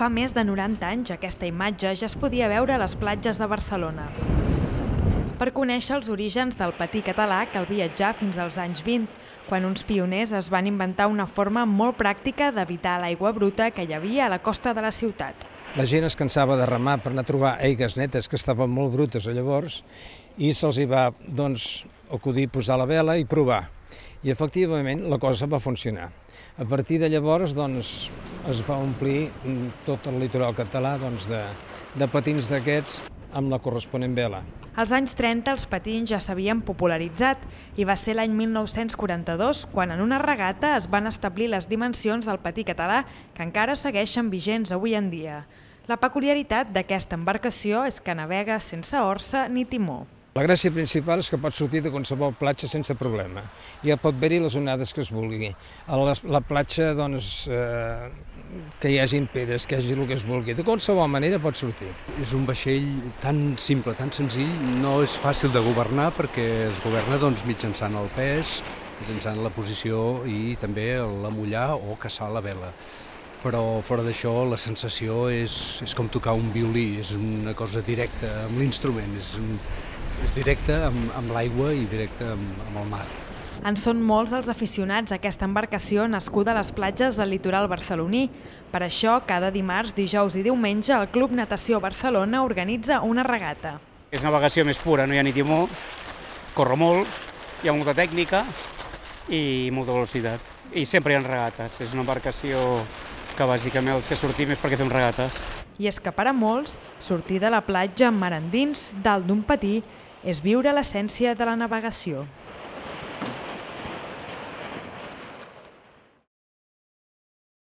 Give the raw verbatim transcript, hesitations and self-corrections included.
Fa més de noranta anys aquesta imatge ja es podia veure a les platges de Barcelona. Per conèixer els orígens del patí català cal viatjar fins als anys vint, quan uns pioners es van inventar una forma molt pràctica d'evitar l'aigua bruta que hi havia a la costa de la ciutat. La gent es cansava de remar per anar a trobar aigues netes que estaven molt brutes llavors i se'ls hi va doncs, acudir posar la vela i provar. I efectivament la cosa va funcionar. A partir de llavors doncs, es va omplir tot el litoral català doncs, de, de patins d'aquests amb la corresponent vela. Als anys trenta els patins ja s'havien popularitzat i va ser l'any mil nou-cents quaranta-dos quan en una regata es van establir les dimensions del patí català que encara segueixen vigents avui en dia. La peculiaritat d'aquesta embarcació és que navega sense orsa ni timó. La gràcia principal és que pot sortir de qualsevol platja sense problema. Ja pot haver-hi les onades que es vulgui. A la, la platja, doncs, eh, que hi hagi pedres, que hi hagi el que es vulgui. De qualsevol manera pot sortir. És un vaixell tan simple, tan senzill, no és fàcil de governar perquè es governa doncs, mitjançant el pes, mitjançant la posició i també l'amollar o caçar la vela. Però fora d'això la sensació és, és com tocar un violí, és una cosa directa amb l'instrument, és un, és directe amb, amb l'aigua i directe amb, amb el mar. En són molts els aficionats a aquesta embarcació nascuda a les platges del litoral barceloní. Per això, cada dimarts, dijous i diumenge, el Club Natació Barcelona organitza una regata. És navegació més pura, no hi ha ni timó, corre molt, hi ha molta tècnica i molta velocitat. I sempre hi ha regates, és una embarcació que bàsicament els que sortim és perquè fem regates. I és que per a molts, sortir de la platja mar endins, dalt d'un patí, és viure l'essència de la navegació.